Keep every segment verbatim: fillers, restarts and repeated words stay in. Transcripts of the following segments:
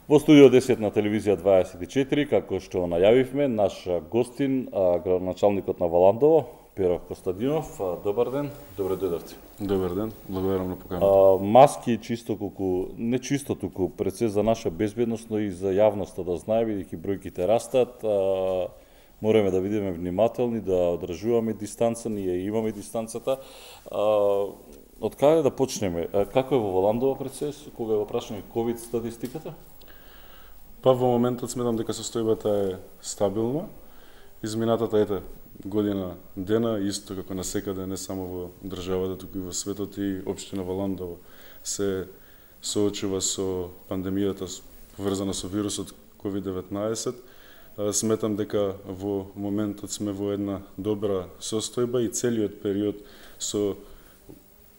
Во студио десет на телевизија дваесет и четири, како што најавивме, наш гостин, градоначалникот на Валандово, Перо Костадинов. Добар ден, добре дојдовте. Добар ден, благодарам на поканата. Маски чисто колку, не чисто туку, пред се за наша безбедност, но и за јавноста да знае, бидејќи бројките растат. А, мораме да бидеме внимателни, да одржуваме дистанца, ние имаме дистанцата. А, од каде да почнеме? Како е во Валандово пред се, кога е во прашање ковид статистиката? Па во моментот сметам дека состојбата е стабилна. Изминатата ете година дена, исто како насекаде, не само во државата, туку и во светот, и општина Валандово се соочува со пандемијата поврзана со вирусот ковид деветнаесет. Сметам дека во моментот сме во една добра состојба и целиот период со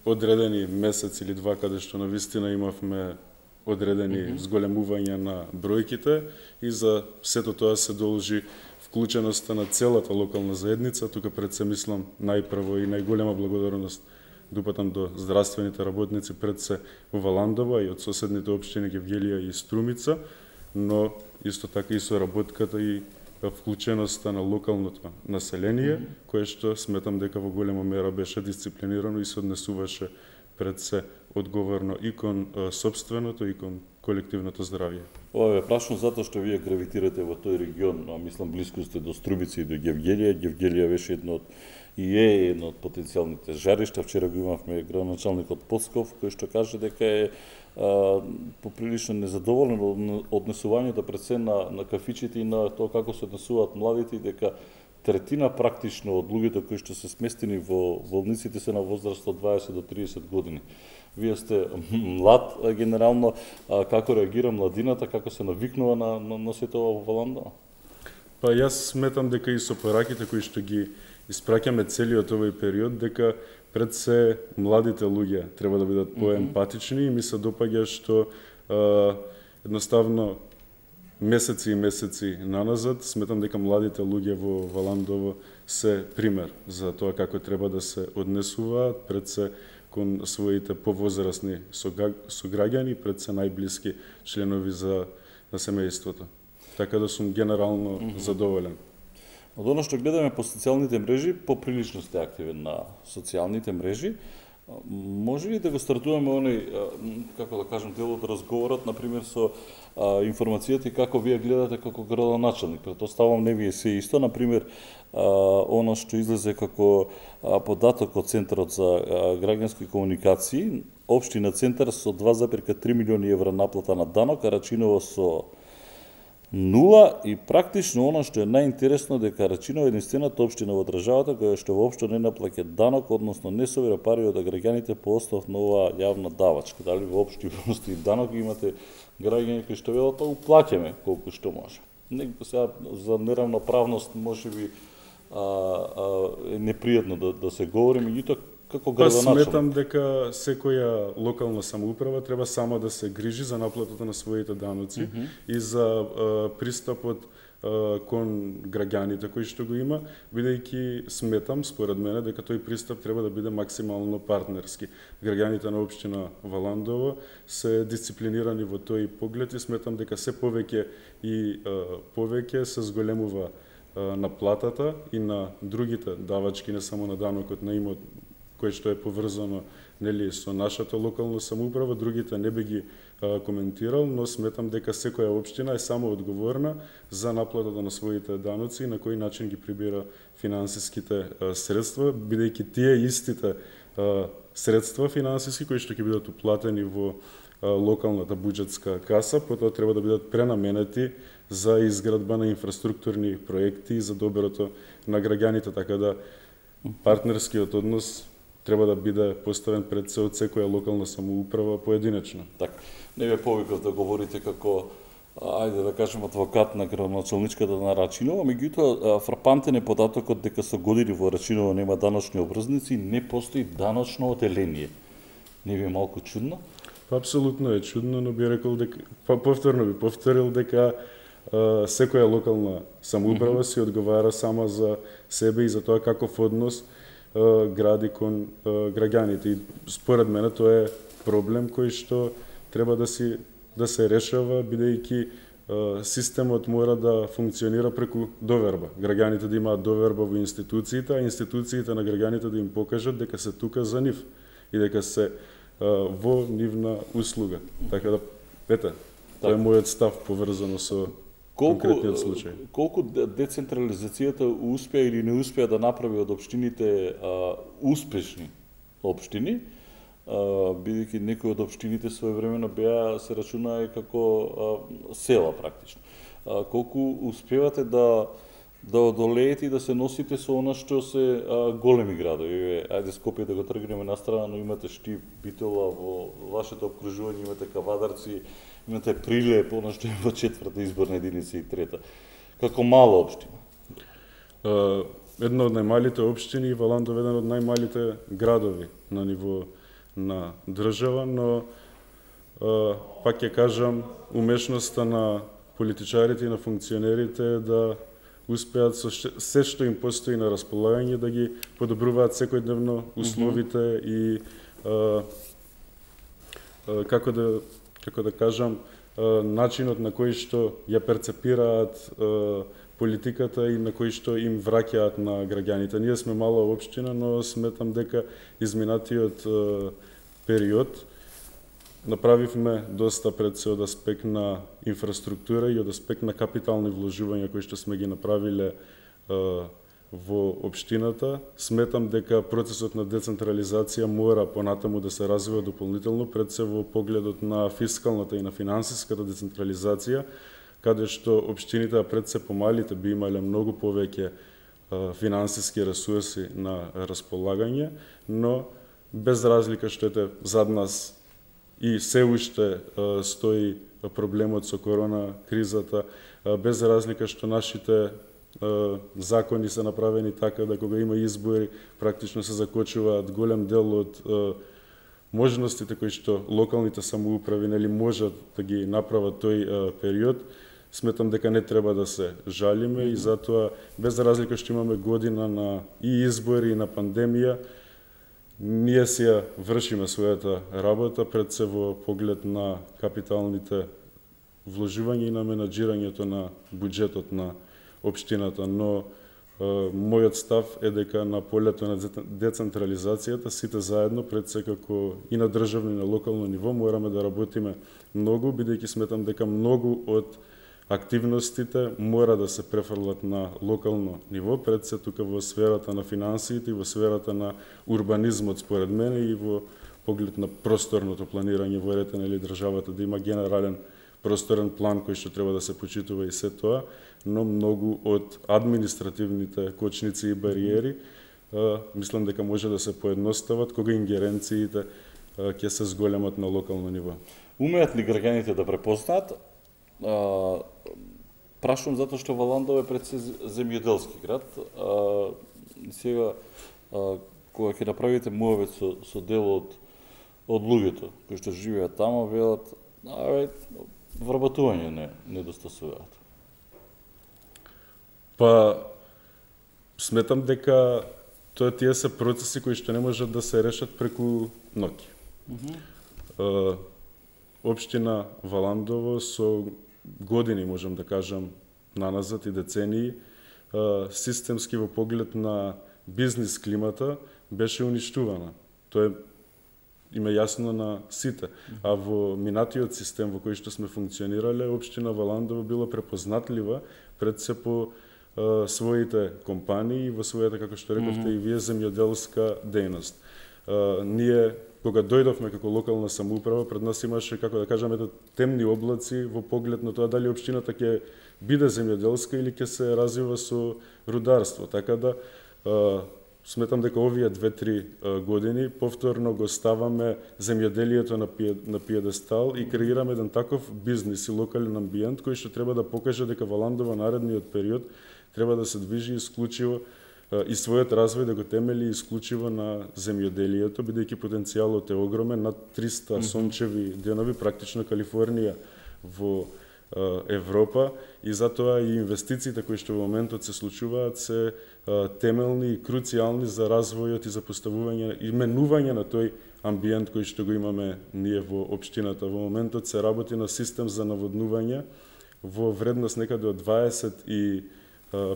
одредени месец или два каде што навистина имавме одредени mm -hmm. зголемувања на бројките, и за сето тоа се должи вклученоста на целата локална заедница. Тука пред се мислам најпрво и најголема благодарност дупатам до здравствените работници пред се во Валандово и од соседните општини Гевгелија и Струмица, но исто така и со работката и вклученоста на локалното население, mm -hmm. кое што сметам дека во голема мера беше дисциплинирано и се однесуваше пред се одговорно и кон собственото и кон колективното здравје. Ова е прашно затоа што вие гравитирате во тој регион, а мислам блиску сте до Струмица и до Гевгелија. Гевгелија беше едно од и е едно од потенцијалните жаришта. Вчера го имавме градоначалникот Поцков, кој што каже дека е а, поприлично незадоволен од однесувањето пред се на, на кафичите и на тоа како се однесуваат младите, и дека третина практично од луѓето кои што се сместени во болниците се на возраст од дваесет до триесет години. Вие сте млад, генерално, а, како реагира младината, како се навикнува на, на, на сето ова во Валандово? Па јас сметам дека и со пораките кои што ги испраќаме целиот овој период, дека пред се младите луѓе треба да бидат поемпатични, и ми се допаѓа што а, едноставно месеци и месеци наназад сметам дека младите луѓе во Валандово се пример за тоа како треба да се однесуваат пред се кон своите повозрасни сограѓани, пред се најблиски членови за на семејството. Така да сум генерално mm -hmm. задоволен. Од оно што гледаме по социјалните мрежи, поприлично сте активен на социјалните мрежи. Може ли да го стартуваме оној, како да кажем, дел од разговорот, например, со а, информацијата и како вие гледате како градоначалник? Претоставам не вие се исто, например, а, оно што излезе како а, податок од Центарот за а, граѓански комуникации, општина Центар со два запирка три милиони евра наплата на данок, а Рачиново со нула, и практично оно што е најинтересно дека Рачиново е единствената општина во државата која што воопшто не наплаќа данок, односно не собира пари од граѓаните по основ на оваа јавна давачка. Дали воопшто постои данок, имате граѓани кои што велат, па уплаќаме колку што може. Не, сега за неравноправност можеби а, а, е непријатно да, да се говори, меѓутоа како градоначалник. Па сметам дека секоја локална самоуправа треба сама да се грижи за наплатата на своите даноци mm -hmm. и за а, пристапот а, кон граѓаните кои што го има, бидејќи сметам, според мене, дека тој пристап треба да биде максимално партнерски. Граѓаните на општина Валандово се дисциплинирани во тој поглед и сметам дека се повеќе и а, повеќе се зголемува а, наплатата и на другите давачки, не само на данокот на имот, кој што е поврзано нели со нашата локална самоуправа, другите не би ги а, коментирал, но сметам дека секоја општина е само одговорна за наплатата на своите даноци и на кој начин ги прибира финансиските а, средства, бидејќи тие истите а, средства финансиски кои што ќе бидат уплатени во а, локалната буџетска каса, потоа треба да бидат пренаменети за изградба на инфраструктурни проекти за доброто на граѓаните, така да партнерскиот однос треба да биде поставен пред се од секоја локална самоуправа поединечно. Так, не ве повикав да говорите како, ајде да кажем, адвокат на градоначалничката на Рачиново, меѓутоа фрапантен е податокот дека со години во Рачиново нема даночни обврзници, не постои даночно оделение. Не ви е малку чудно? Па апсолутно е чудно, но би рекол дека, па повторно би повторил дека а, секоја локална самоуправа mm -hmm. си одговара сама за себе и за тоа каков однос гради кон граѓаните. И според мене тоа е проблем кој што треба да си да се решава, бидејќи системот мора да функционира преку доверба. Граѓаните да имаат доверба во институциите, а институциите на граѓаните да им покажат дека се тука за нив и дека се во нивна услуга. Така да, ете, тоа е мојот став поврзано со конкретниот случај. Колку децентрализацијата успеа или не успеа да направи од општините а, успешни општини, бидејќи некои од општините своевремено беа се рачунаа како а, села практично. А, колку успевате да да одолеете и да се носите со она што се а, големи градови? Ајде Скопје да го тргнеме на страна, но имате Штип, Битола, во вашето обкружување имате Кавадарци, имате Прилеп, она што е во четврта изборна единица и трета. Како мала општина? Uh, една од најмалите општини и Валандов еден од најмалите градови на ниво на држава, но uh, пак ќе кажам, умешноста на политичарите и на функционерите е да успеат со се што им постои на располагање да ги подобруваат секојдневно условите mm-hmm. и uh, uh, како да како да кажам, uh, начинот на кој што ја перцепираат uh, политиката и на кој што им враќаат на граѓаните. Ние сме мала општина, но сметам дека изминатиот е, период направивме доста пред се од аспект на инфраструктура и од аспект на капитални вложувања кои што сме ги направиле е, во општината. Сметам дека процесот на децентрализација мора понатаму да се развива дополнително пред се во погледот на фискалната и на финансиската децентрализација, каде што општините пред се помалите би имале многу повеќе финансиски ресурси на располагање, но без разлика што ете зад нас и се уште стои проблемот со корона кризата, без разлика што нашите закони се направени така да кога има избори практично се закочуваат голем дел од можностите кои што локалните самоуправи нели можат да ги направат тој период. Сметам дека не треба да се жалиме mm-hmm. и затоа без разлика што имаме година на и избори и на пандемија, ние си ја вршиме својата работа пред се во поглед на капиталните вложувања и на менаџирањето на буџетот на општината, но е, мојот став е дека на полето на децентрализацијата сите заедно пред се како и на државно и на локално ниво мораме да работиме многу, бидејќи сметам дека многу од активностите мора да се префрлат на локално ниво, пред се тука во сферата на финансиите и во сферата на урбанизмот според мене и во поглед на просторното планирање во ред или државата да има генерален просторен план кој што треба да се почитува и се тоа, но многу од административните кочници и бариери а, мислам дека може да се поедностават кога ингеренциите а, ќе се зголемат на локално ниво. Умеат ли граѓаните да препознаат? А, прашувам затоа што Валандов е пред се земјоделски град. А, сега, а, кога ќе направите муавет со, со дел од, од луѓето кои што живеат тамо, велат, аве, вработување не недостасуваат. Па, сметам дека тоа тие се процеси кои што не можат да се решат преку ноќ. Mm-hmm. Општина Валандово со години, можам да кажам, наназад и децении, системски во поглед на бизнис климата беше уништувана. Тоа е има јасно на сите. А во минатиот систем во кој што сме функционирале, општина Валандово била препознатлива пред се по а, своите компании, во својата, како што рековте mm-hmm. и вие, земјоделска дејност. А, ние кога дојдовме како локална самоуправа, пред нас имаше, како да кажаме, темни облаци во поглед на тоа дали општината ќе биде земјоделска или ќе се развива со рударство. Така да, а, сметам дека овие две-три години повторно го ставаме земјоделието на, пие, на пиедестал и креираме еден таков бизнис и локален амбиент кој што треба да покаже дека Валандова наредниот период треба да се движи исклучиво и својот развој да го темели исклучиво на земјоделието, бидејќи потенцијалот е огромен, над триста mm-hmm. сончеви денови, практично Калифорнија во Европа, и затоа и инвестициите кои што во моментот се случуваат се темелни и круцијални за развојот и за поставување и менување на тој амбиент кој што го имаме ние во општината. Во моментот се работи на систем за наводнување во вредност некаде од дваесет и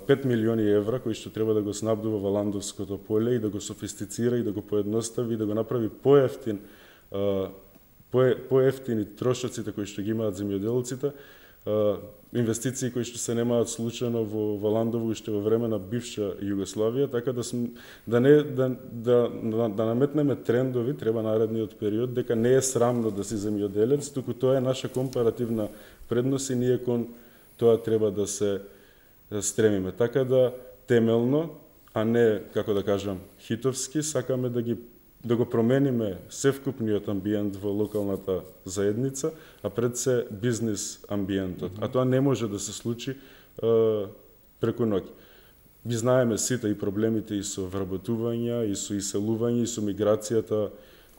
пет милиони евра, кои што треба да го снабдува Валандовското поле и да го софистицира и да го поедностави и да го направи поевтин, поевтини трошоците кои што ги имаат земјоделците, инвестиции кои што се немаат случајно во Валандово уште во време на бивша Југославија, така да см, да не да да да, да наметнеме трендови треба наредниот период дека не е срамно да си земјоделец, туку тоа е наша компаративна предност и ние кон тоа треба да се стремиме. Така да темелно, а не како да кажам хитовски, сакаме да ги да го промениме севкупниот амбиент во локалната заедница, а пред се бизнис амбиентот. Mm -hmm. А тоа не може да се случи е, преку ноќ. Би знаеме сите и проблемите и со вработување, и со иселување, и со миграцијата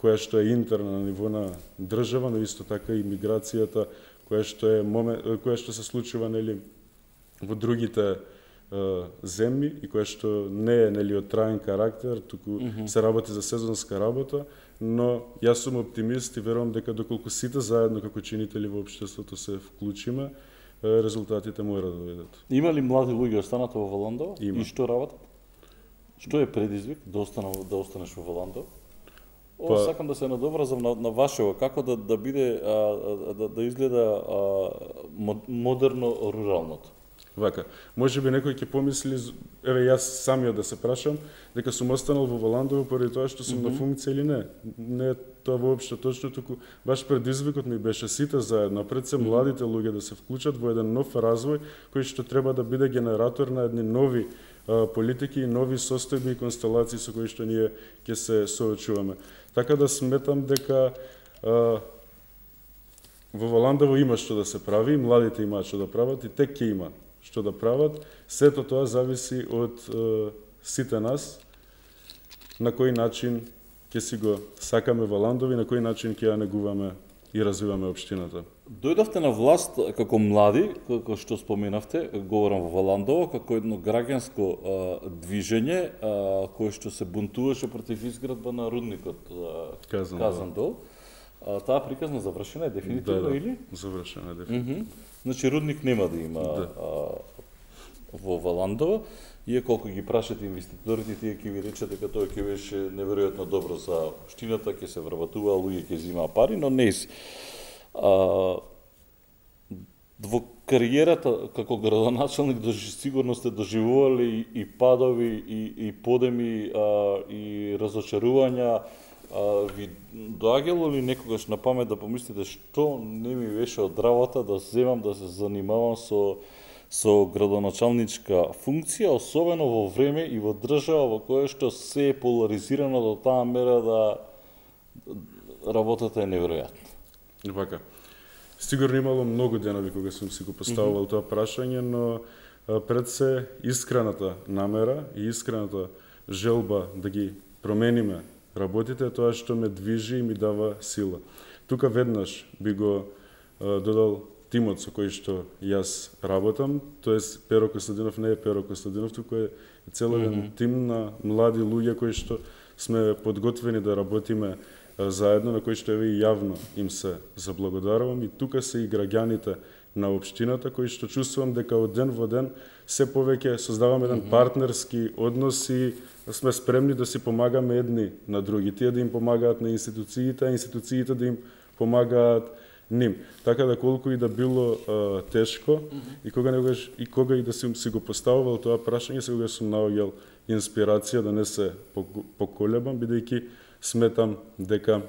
која што е интерна на ниво на држава, но исто така и миграцијата која што е момент, која што се случува нели во другите земји и која што не е нели од траен карактер, туку mm -hmm. се работи за сезонска работа, но јас сум оптимист и верувам дека доколку сите заедно како чинители во општеството се вклучиме, резултатите мора да дојдат. Има ли млади луѓе останато во Валандово и што работат? Што е предизвик да останеш да останеш во Валандово? О, па, сакам да се надобразам на, на вашево, како да да биде а, да, да изгледа а, модерно руралното. Вака, може би некој ќе помисли, еве јас самиот да се прашам, дека сум останал во Валандово поради тоа што сум mm -hmm. на функција или не. Не е тоа воопшто точно, туку баш предизвикот ми беше сите заедно, пред се младите луѓе да се вклучат во еден нов развој кој што треба да биде генератор на едни нови а, политики и нови состојби и констелации со кои што ние ќе се соочуваме. Така да сметам дека а, во Валандово има што да се прави, младите имаат што да прават и те ќе има што да прават. Сето тоа зависи од е, сите нас, на кој начин ќе си го сакаме Валандово и на кој начин ќе ја негуваме и развиваме општината. Дојдовте на власт како млади, како што споменавте, говорам во Валандово, како едно граѓанско а, движење а, кое што се бунтуваше против изградба на рудникот Казандол. Казандол. А, таа приказна завршена е дефинитивно да, да, или? Завршена е дефинитивно. Mm -hmm. Значи рудник нема да има да. А, во Валандово, иако ги прашате инвеститорите, тие ќе ви речат дека тоа ќе беше неверојатно добро за општината, ќе се вработува, луѓе ќе земаа пари, но не си. А, во кариерата како градоначалник сигурно сте доживували и, и падови, и, и подеми, а, и разочарувања. А, ви доаѓало ли некогаш на памет да помислите што не ми беше од работа да земам да се занимавам со со градоначалничка функција, особено во време и во држава во која што се е поларизирано до таа мера да работата е неверојатна. Вака. Сигурно имало многу денови кога сум си го поставувал mm -hmm. тоа прашање, но пред се искрената намера и искрената желба да ги промениме работите, тоа што ме движи и ми дава сила. Тука веднаш би го а, додал тимот со кој што јас работам, тоест Перо Костадинов не е Перо Костадинов, туку е целен mm -hmm. тим на млади луѓе кои што сме подготвени да работиме а, заедно, на кои што еве и јавно им се заблагодарувам, и тука се и граѓаните на општината кои што чувствувам дека од ден во ден се повеќе создаваме еден mm -hmm. партнерски однос и сме спремни да си помагаме едни на други, тие да им помагаат на институциите, а институциите да им помагаат ним. Така да колку и да било а, тешко, mm -hmm. и кога негаш и кога и да си, си го поставувал тоа прашање, сега сум наоѓал инспирација да не се поколебам, бидејќи сметам дека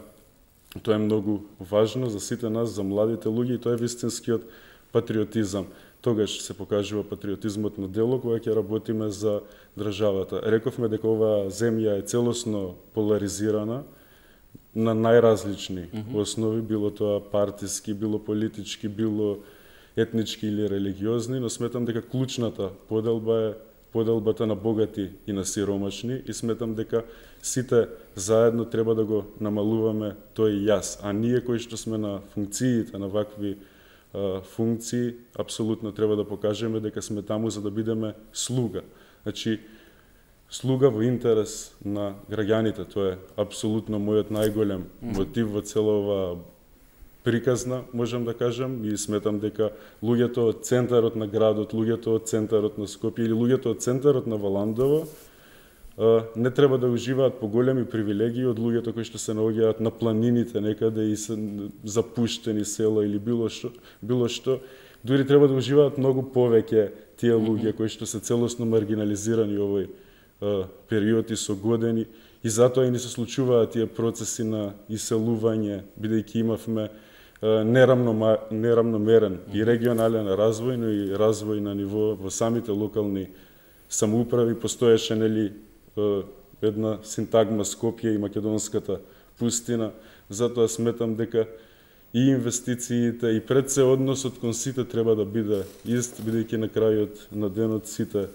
тоа е многу важно за сите нас, за младите луѓе, и тоа е вистинскиот патриотизам. Тогаш се покажува патриотизмот на дело кога ќе работиме за државата. Рековме дека оваа земја е целосно поларизирана на најразлични mm -hmm. основи, било тоа партиски, било политички, било етнички или религиозни, но сметам дека клучната поделба е поделбата на богати и на сиромашни, и сметам дека сите заедно треба да го намалуваме тој јас, а ние кои што сме на функциите на вакви функции, апсолутно треба да покажеме дека сме таму за да бидеме слуга. Значи, слуга во интерес на граѓаните. Тоа е апсолутно мојот најголем мотив во цела оваа приказна, можам да кажам, и сметам дека луѓето од центарот на градот, луѓето од центарот на Скопје или луѓето од центарот на Валандово не треба да уживаат поголеми привилегии од луѓето кои што се наоѓаат на планините некаде и се запуштени села или било што, било што, дури треба да уживаат многу повеќе тие луѓе кои што се целосно маргинализирани овој а, период и со години, и затоа и не се случуваат тие процеси на иселување, бидејќи имавме а, неравно, неравномерен и регионален развој, но и развој на ниво во самите локални самоуправи. Постоеше нели една синтагма Скопје и македонската пустина, затоа сметам дека и инвестициите и пред се односот кон сите треба да биде ист, бидејќи на крајот на денот сите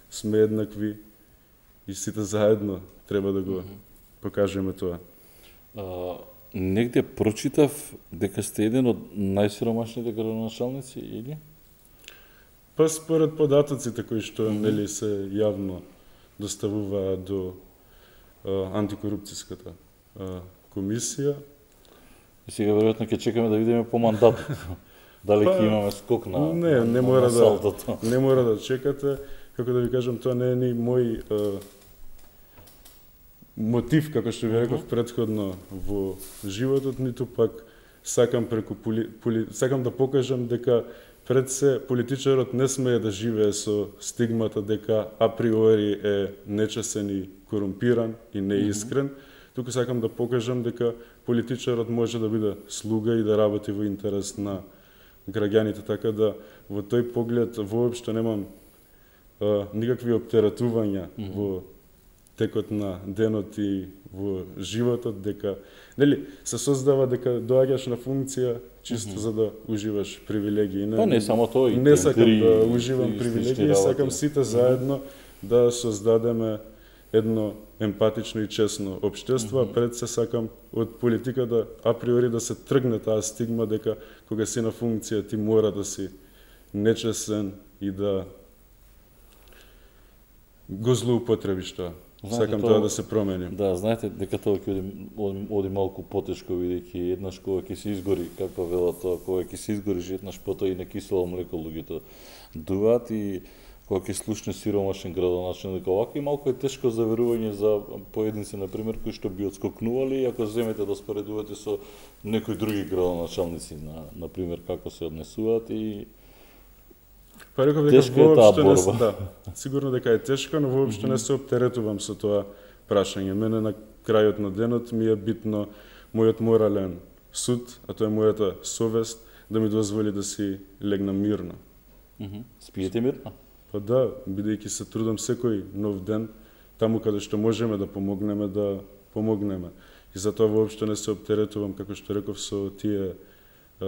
сме еднакви и сите заедно треба да го покажеме тоа. А, негде прочитав дека сте еден од најсиромашните градоначалници, или? Па според податоците кои што нели се јавно доставуваат до а, антикорупцијската а, комисија. И сега веројатно ќе чекаме да видиме по мандатот. Дали ќе имаме скок на Не, не на, мора на да салдото. не мора да чекате, како да ви кажам, тоа не е ни мој а, мотив, како што ви реков претходно во животот, ниту пак сакам преку поли, поли, сакам да покажам дека пред се политичарот не смее да живее со стигмата дека априори е нечесен и корумпиран и неискрен, туку сакам да покажам дека политичарот може да биде слуга и да работи во интерес на граѓаните, така да во тој поглед воопшто немам а, никакви оптеретувања mm -hmm. во текот на денот и во животот, дека нели се создава дека доаѓаш на функција чисто mm -hmm. за да уживаш привилегии. Не, па не само тоа, и не сакам тендри, да уживам привилегии, сакам сите заедно да создадеме едно емпатично и честно општество, mm -hmm. а пред се сакам од политика да априори да се тргне таа стигма дека кога си на функција ти мора да си нечесен и да го злоупотребиш тоа. Знаете, сакам тоа, тоа да се промени. Да, знаете дека тоа ќе оди, оди, оди малку потешко, бидејќи еднаш кога ќе се изгори, како велат тоа, кога ќе се изгори еднаш потоа и на кисело млеко луѓето дуваат, и кога ќе слушне сиромашен градоначалник дека овако и малку е тешко за верување за поединци, на пример, кои што би отскокнували, ако земете да споредувате со некои други градоначалници, на на пример како се однесуваат, и Па реков дека воопшто не се, да, сигурно дека е тешко, но воопшто mm -hmm. не се оптеретувам со тоа прашање. Мене на крајот на денот ми е битно мојот морален суд, а тоа е мојата совест, да ми дозволи да си легнам мирно. Mm -hmm. Спиете мирно? Па да, бидејќи се трудам секој нов ден, таму каде што можеме да помогнеме, да помогнеме. И затоа воопшто не се оптеретувам, како што реков, со тие а,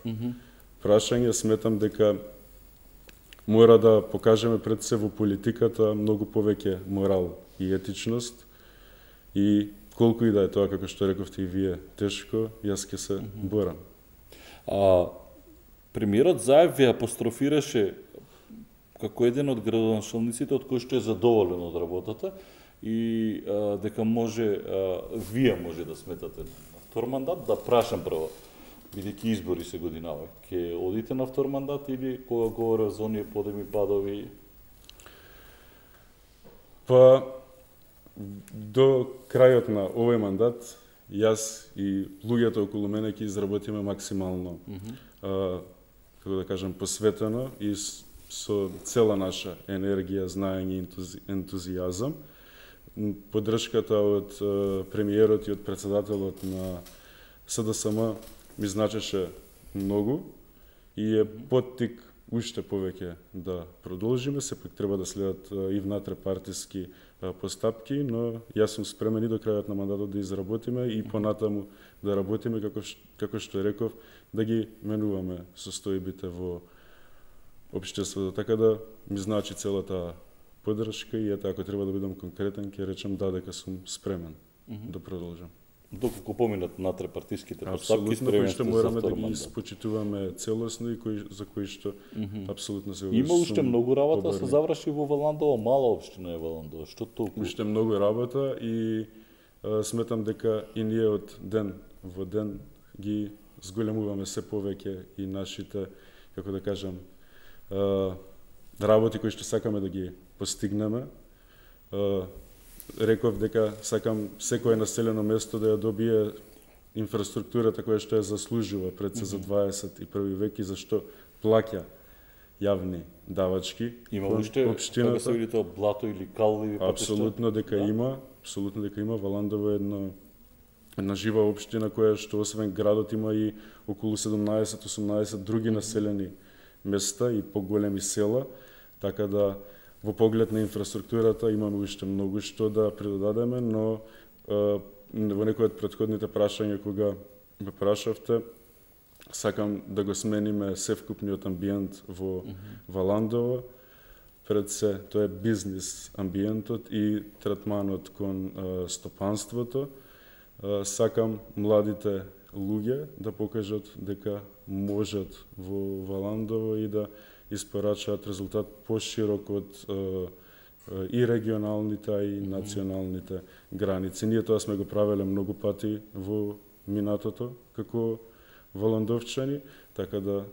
mm -hmm. прашања. Сметам дека мора да покажеме пред се во политиката многу повеќе морал и етичност, и колку и да е тоа, како што рековте и вие, тешко, јас ќе се борам. А премиерот Заев ви апострофираше како еден од градоначалниците од кој што е задоволен од работата и а, дека може, а, вие може да сметате на втор мандат. Да прашам прво, бидејќи избори се годинава, ќе одите на втор мандат или кога говорев за оние подеми падови? Па, до крајот на овој мандат, јас и луѓето околу мене ќе изработиме максимално, mm -hmm. а, како да кажам, посветено и со цела наша енергија, знаење и ентузи, ентузијазам. Поддршката од а, премиерот и од председателот на С Д С М ми значеше многу и е поттик уште повеќе да продолжиме. Сепак треба да следат и внатре партиски постапки, но јас сум спремен и до крајот на мандатот да изработиме и понатаму да работиме, како, како што реков, да ги менуваме состојбите во општеството. Така да ми значи целата поддршка и ете, ако треба да бидам конкретен, ќе речам да, дека сум спремен mm -hmm. да продолжам. доколку поминат натре партиските постапки, апсолутно, кои што спремени мораме за да втор ги мандат. испочитуваме целосно и кои, за кои што mm -hmm. апсолутно се Има уште сум многу работа да се побарни. заврши во Валандово, мала општина е Валандово. Што толку? Уште многу работа и а, сметам дека и ние од ден во ден ги зголемуваме се повеќе и нашите, како да кажам, а, работи кои што сакаме да ги постигнеме. А, реков дека сакам секое населено место да ја добие инфраструктурата која што ја заслужува пред се за дваесет и први век и зашто плаќа јавни давачки. Има уште кога се види тоа блато или калливи патишта? Апсолутно дека да. има, апсолутно дека има. Валандово е една една жива општина која што освен градот има и околу седумнаесет осумнаесет други населени места и поголеми села, така да во поглед на инфраструктурата имаме уште многу што да придодадеме, но е, во некој од претходните прашања кога ме прашавте, сакам да го смениме севкупниот амбиент во mm -hmm. Валандово. Пред се, тоа е бизнис амбиентот и третманот кон е, стопанството. Е, сакам младите луѓе да покажат дека можат во Валандово и да испорачаат резултат поширок од е, и регионалните, а и националните граници. Ние тоа сме го правеле многу пати во минатото, како валандовчани, така да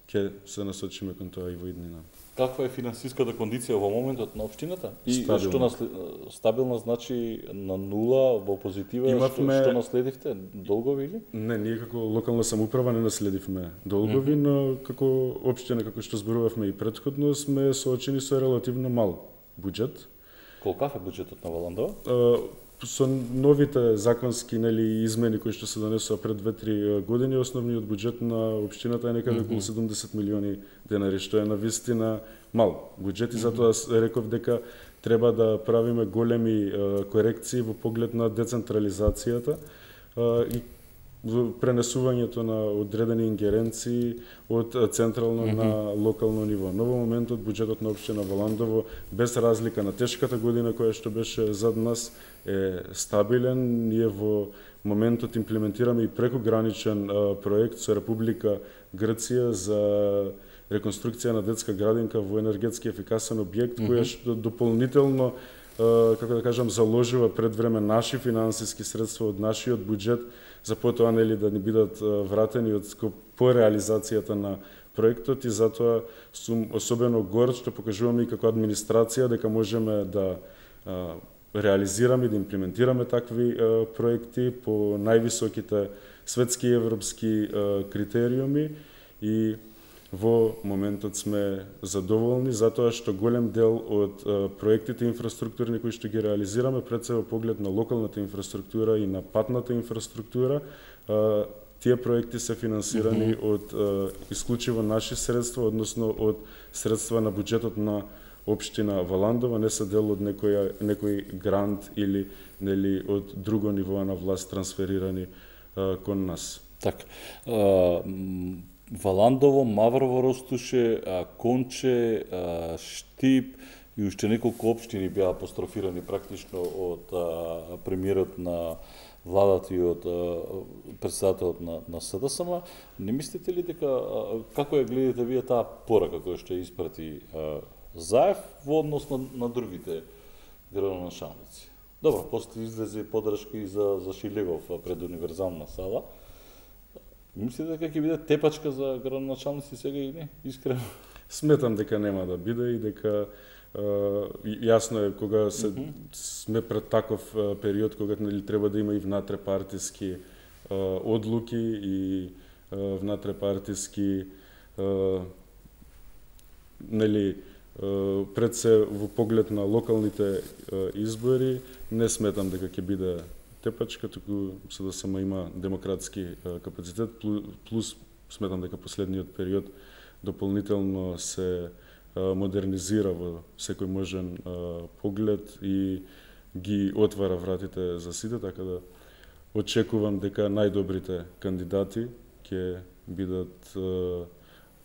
ќе се насочиме кон тоа и во иднина. Каква е финансиската кондиција во моментот на општината? И стабилна. што наслед... стабилна значи на нула, во позитива, Имавме... што, што наследивте? Долгови или? Не, ние како локална самоуправа не наследивме долгови, mm -hmm. но како општина, како што зборувавме и претходно, сме соочени со релативно мал буџет. Колкав е буџетот на Валандово? Со новите законски нели измени кои што се донесоа пред две-три години, основниот буџет на општината е некаде околу седумдесет милиони денари, што е навистина мал буџет и затоа реков дека треба да правиме големи корекции во поглед на децентрализацијата и пренесувањето на одредени ингеренции од централно mm -hmm. на локално ниво. Но во моментот буџетот на општина Валандово, без разлика на тешката година која што беше зад нас, е стабилен. Ние во моментот имплементираме и прекограничен а, проект со Република Грција за реконструкција на детска градинка во енергетски ефикасен објект, mm -hmm. која што дополнително, а, како да кажам, заложува пред време наши финансиски средства од нашиот буџет, за потоа нели да ни бидат вратени од по реализацијата на проектот и затоа сум особено горд што покажуваме и како администрација дека можеме да а, реализираме и да имплементираме такви а, проекти по највисоките светски и европски а, критериуми и во моментот сме задоволни затоа што голем дел од а, проектите инфраструктурни кои што ги реализираме пред се во поглед на локалната инфраструктура и на патната инфраструктура, а, тие проекти се финансирани mm -hmm. од а, исклучиво наши средства, односно од средства на буџетот на општина Валандово, не се дел од некој некој грант или нели од друго ниво на власт трансферирани а, кон нас. Така. Валандово, Маврово Ростуше, Конче, Штип и уште неколку општини беа апострофирани практично од премиерот на владата и од претседателот на, на СДСМ. Не мислите ли дека, како ја гледате вие таа порака која што ја испрати Заев во однос на, на другите градоначалници? Добро, после излезе подршка и за, за Шилегов пред универзална сала. Мислите дека ќе биде тепачка за градоначалници сега или не? Искрено? Сметам дека нема да биде и дека е, јасно е кога се, mm -hmm. сме пред таков период кога нели треба да има и внатрепартиски е, одлуки и е, внатрепартиски е, нели пред се во поглед на локалните е, избори, не сметам дека ќе биде тепачка, туку се да само има демократски е, капацитет, плюс сметам дека последниот период дополнително се е, модернизира во секој можен е, поглед и ги отвара вратите за сите, така да очекувам дека најдобрите кандидати ќе бидат е,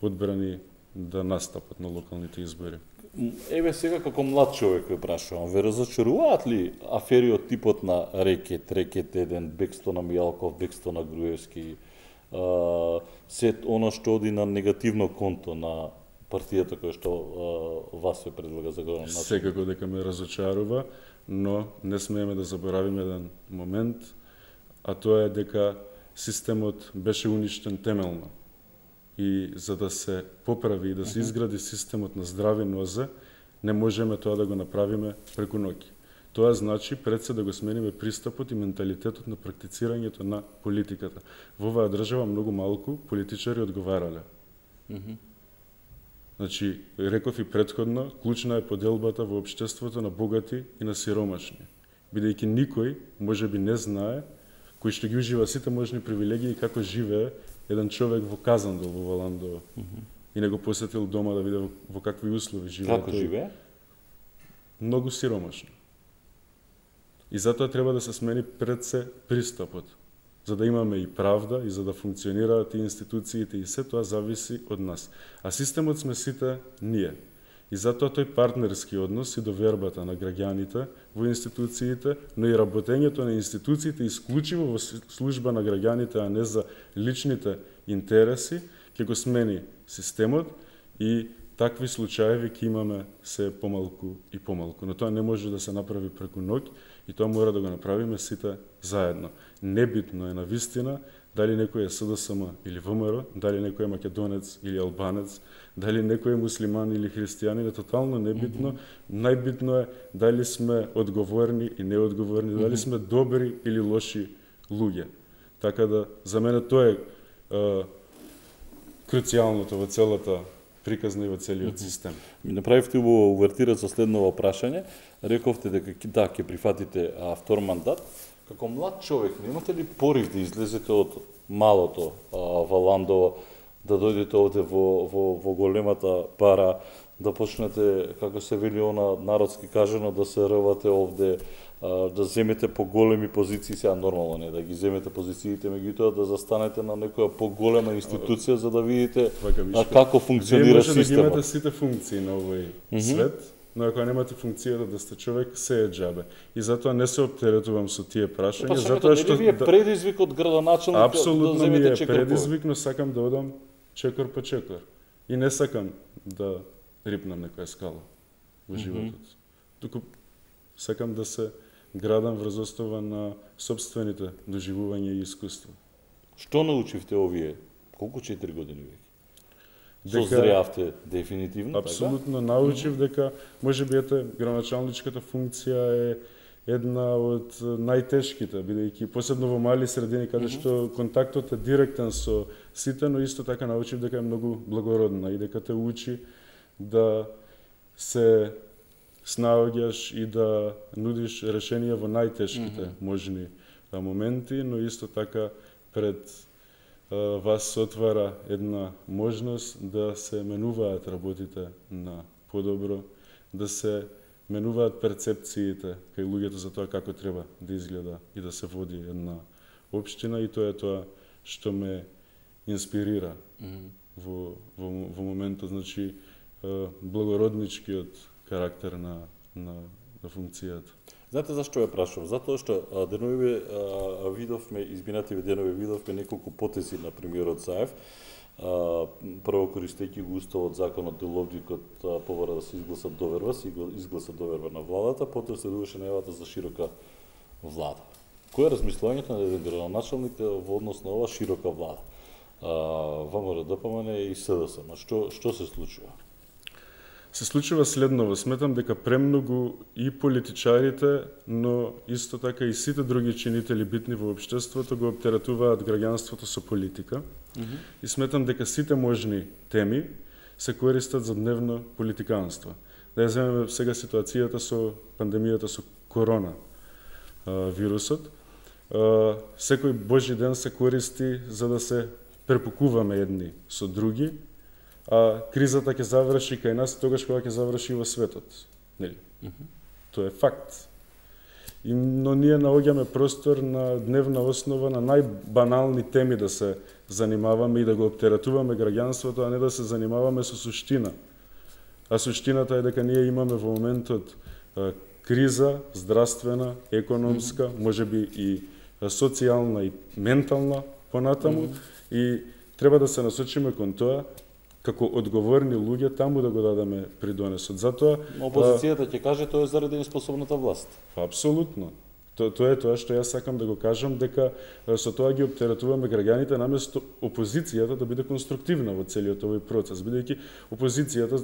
одбрани да настапат на локалните избори. Еве сега како млад човек ве прашувам, ве разочаруваат ли афери од типот на Рекет, Рекет еден, бегство на Мијалков, бегство на Груевски, а, се оно што оди на негативно конто на партијата која што а, вас ве предлага за градоначелник? Секако дека ме разочарува, но не смееме да заборавиме еден момент, а тоа е дека системот беше уништен темелно. И за да се поправи и да се изгради системот на здрави нозе, не можеме тоа да го направиме преку ноќ. Тоа значи пред се да го смениме пристапот и менталитетот на практицирањето на политиката. Во оваа држава многу малку политичари одговарале. Mm -hmm. Значи, реков и претходно, клучна е поделбата во општеството на богати и на сиромашни. Бидејќи никој можеби не знае, кој што ги ужива сите можни привилегии како живее еден човек во Казандол во Валандово. Mm -hmm. И не го посетил дома да види во, во какви услови живее. Како живее? Многу сиромашно. И затоа треба да се смени пред се пристапот. За да имаме и правда и за да функционираат и институциите и се тоа зависи од нас. А системот сме сите ние. И затоа тој партнерски однос и довербата на граѓаните во институциите, но и работењето на институциите исклучиво во служба на граѓаните, а не за личните интереси, ќе го смени системот и такви случаеви ќе имаме се помалку и помалку. Но тоа не може да се направи преку ноќ и тоа мора да го направиме сите заедно. Небитно е навистина дали некој е СДСМ или ВМРО, дали некој е македонец или албанец, дали некој е муслиман или христијанин, е тотално небитно. Mm -hmm. Најбитно е дали сме одговорни и неодговорни, mm -hmm. дали сме добри или лоши луѓе. Така да, за мене тоа е, е круцијалното во целата приказна и во целиот систем. Ми направивте во увертира со следново прашање. Рековте дека да, ќе прифатите а, втор мандат. Како млад човек, немате ли порив да излезете од малото а, Валандово, да дојдете овде во, во, во големата пара, да почнете, како се вели она народски кажано, да се рвате овде, а, да земете поголеми позиции, сега нормално не да ги земете позициите, меѓутоа да застанете на некоја поголема институција за да видите а, како функционира системот. Вие може да ги имате сите функции на овој mm -hmm. свет, но ако немате функцијата да сте човек, се е џабе. И затоа не се оптеретувам со тие прашања, па, затоа што не ви е предизвик од градоначелник да апсолутно ми е чекор предизвик, но сакам да одам чекор по чекор. И не сакам да рипнам некоја скала во животот. Mm -hmm. Туку сакам да се градам врз основа на сопствените доживувања и искуства. Што научивте овие колку четири години веќе? Созреавте дефинитивно, апсолутно така? научив дека можеби ете градоначалничката функција е една од најтешките, бидејќи посебно во мали средини каде mm -hmm. што контактот е директен со сите, но исто така научив дека е многу благородна и дека те учи да се снаоѓаш и да нудиш решенија во најтешките mm -hmm. можни моменти, но исто така пред вас се отвара една можност да се менуваат работите на подобро, да се менуваат перцепциите кај луѓето за тоа како треба да изгледа и да се води една општина, и тоа е тоа што ме инспирира mm -hmm. во, во, во моментот, значи благородничкиот карактер на, на, на функцијата. Знаете зашто ја прашувам? Затоа што денови видовме, изминативе денови видовме неколку потези на премиерот Заев, прво користејќи го уставот, законот, деловникот, побара да се изгласа доверба, се изгласа доверба на владата, потоа следуваше најавата за широка влада. Кој е размислувањето на еден градоначалник во однос на ова широка влада? ВМРО, ДПМН и СДСМ. Што што се случува? Се случува следново. Сметам дека премногу и политичарите, но исто така и сите други чинители битни во општеството го оптеретуваат граѓанството со политика. Mm -hmm. И сметам дека сите можни теми се користат за дневно политиканство. Да ја земеме сега ситуацијата со пандемијата со корона а, вирусот. А, секој божи ден се користи за да се препукуваме едни со други, а кризата ќе заврши кај нас тогаш кога ќе заврши во светот. Нели? Mm -hmm. Тоа е факт. И, но ние наоѓаме простор на дневна основа на најбанални теми да се занимаваме и да го оптеретуваме граѓанството, а не да се занимаваме со суштина А суштината е дека ние имаме во моментот а, криза, здравствена, економска, mm-hmm. можеби и социјална и ментална понатаму, mm-hmm. и треба да се насочиме кон тоа како одговорни луѓе таму да го дадеме придонесот. Затоа опозицијата ќе каже тоа е заради неспособната власт. Апсолутно. То, тоа е тоа што јас сакам да го кажам, дека со тоа ги оптеретуваме граѓаните наместо опозицијата да биде конструктивна во целиот овој процес, бидејќи опозицијата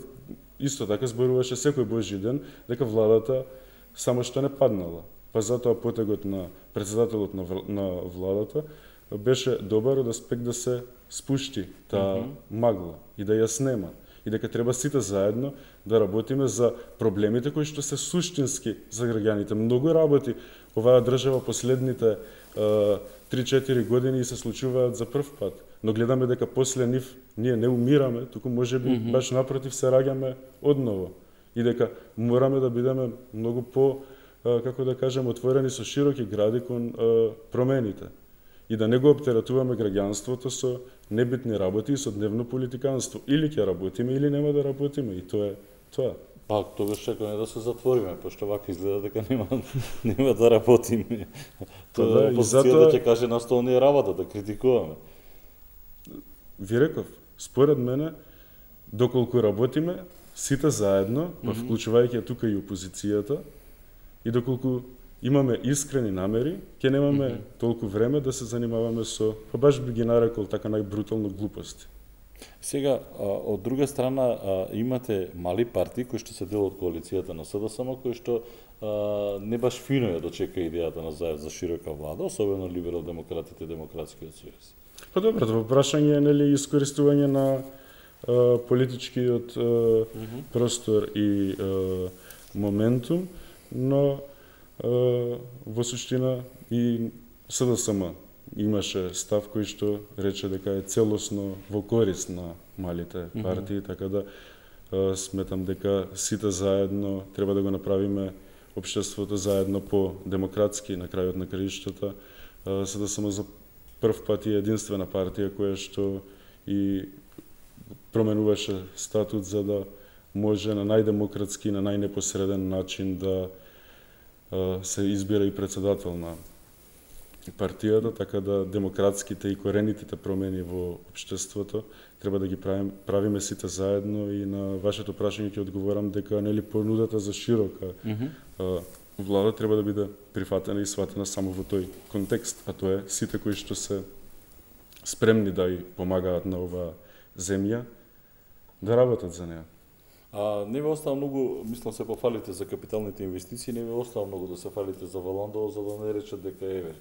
исто така зборуваше секој божи ден дека владата само што не паднала. Па затоа потегот на председателот на, на владата беше добар од аспект да се спушти таа mm-hmm. магла и да ја снема. И дека треба сите заедно да работиме за проблемите кои што се суштински за граѓаните. Многу работи оваа држава последните три-четири години се случуваат за прв пат. Но гледаме дека после нив ние не умираме, туку можеби mm-hmm. баш напротив се раѓаме одново. И дека мораме да бидеме многу по, како да кажем, отворени со широки гради кон промените. И да не го оптеретуваме граѓанството со небитни работи и со дневно политиканство. Или ќе работиме, или нема да работиме. И тоа е тоа. Па, тогаш чекаме да се затвориме, пошто вака изгледа дека нема, нема да работиме. Тоа е опозицијата ќе каже на стол не е работа, да критикуваме. Ви реков, според мене, доколку работиме, сите заедно, па вклучувајќи тука и опозицијата, и доколку имаме искрени намери, ќе немаме mm -hmm. толку време да се занимаваме со, па баш би ги нарекол така најбрутално глупости. Сега, од друга страна, имате мали партии кои што се дел од коалицијата на СДСМ, кои што не баш фино ја дочека идејата на заед за широка влада, особено либерал-демократите и Демократскиот сојуз. Па добро, тоа прашање е нели искористување на а, политичкиот а, mm -hmm. простор и а, моментум, но а, во суштина и СДСМ имаше став кој што рече дека е целосно во корист на малите партии, mm -hmm. така да а, сметам дека сите заедно треба да го направиме општеството заедно по демократски на крајот на краиштата, СДСМ за прв пат е единствена партија која што и променуваше статут за да може на најдемократски, на најнепосреден начин да а, се избира и председател на партијата, така да демократските и коренитите промени во општеството треба да ги правим, правиме сите заедно. И на вашето прашање ќе одговорам дека нели понудата за широка mm -hmm. а, влада треба да биде прифатена и сватена само во тој контекст, а тоа е сите кои што се спремни да ја помагаат на оваа земја да работат за неа. А не ве остава многу, мислам се пофалите за капиталните инвестиции, не ве остава многу да се фалите за Валандово, за да не речат дека еве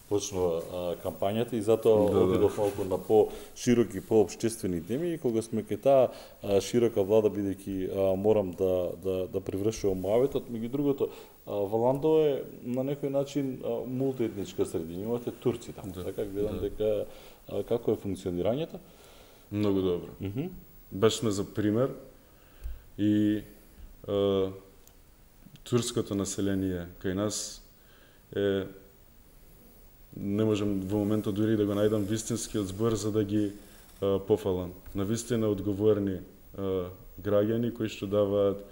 почнува а, кампањата и затоа да, обидов малку на по-широки, по-општествени теми и кога сме кај таа широка влада, бидејќи морам да да да привршувам муаветот, меѓу другото, а, Валандово е на некој начин а, мултиетничка средина, имате турци таму, да, така гледам да. дека а, како е функционирањето? Многу добро. Mm -hmm. Баш сме за пример и а, турското население кај нас е, не можам во моментот дури да го најдам вистинскиот збор за да ги а, пофалам. Навистина одговорни а, граѓани кои што даваат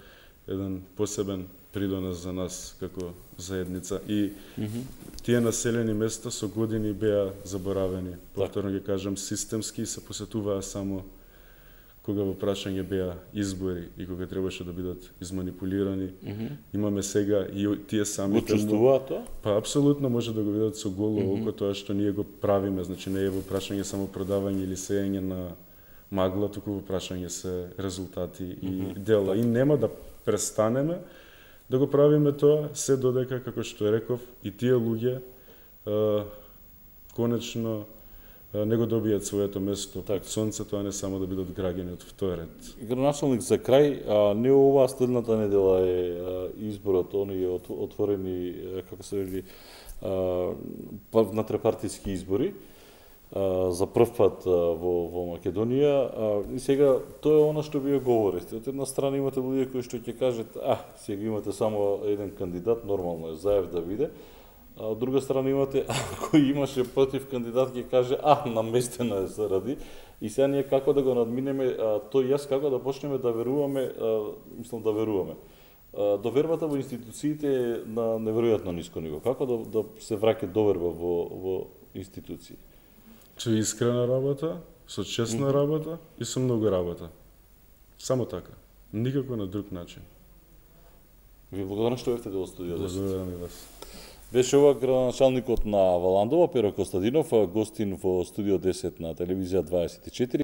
еден посебен придонес за нас како заедница. И mm -hmm. тие населени места со години беа заборавени. Повторно ги кажам, системски и се посетуваа само кога во прашање беа избори и кога требаше да бидат изманипулирани. Mm -hmm. Имаме сега и тие самите... Учествуваат тоа? Па, апсолутно може да го видат со голо mm -hmm. око тоа што ние го правиме. Значи, не е во прашање само продавање или сејање на магла, туку во прашање се резултати mm -hmm. и дела. И нема да престанеме да го правиме тоа, се додека, како што реков, и тие луѓе а, конечно не го добијат своето место под сонцето, а не само да бидат граѓани од втор ред. Граначалник, за крај, а, не оваа следната недела е а, изборот, оние от, отворени, како се вели, внатрепартиски избори, а, за прв пат а, во, во Македонија. А, и сега, тоа е она што вие говорите. Од една страна имате луѓе кои што ќе кажат, а, сега имате само еден кандидат, нормално е Заев да биде, А од друга страна имате, кој имаше против кандидат ќе каже, а, наместено е заради, и сега ние како да го надминеме, а, тој јас како да почнеме да веруваме, а, мислам да веруваме. А, довербата во институциите е на неверојатно ниско ниво. Како да, да се враќа доверба во, во институции? Со искрена работа, со честна mm-hmm. работа и со многу работа. Само така. Никако на друг начин. Ви благодарам што бевте дел студио. Благодарам и вас. Беше ова градоначалникот на Валандова, Перо Костадинов, гостин во студио десет на телевизија дваесет и четири.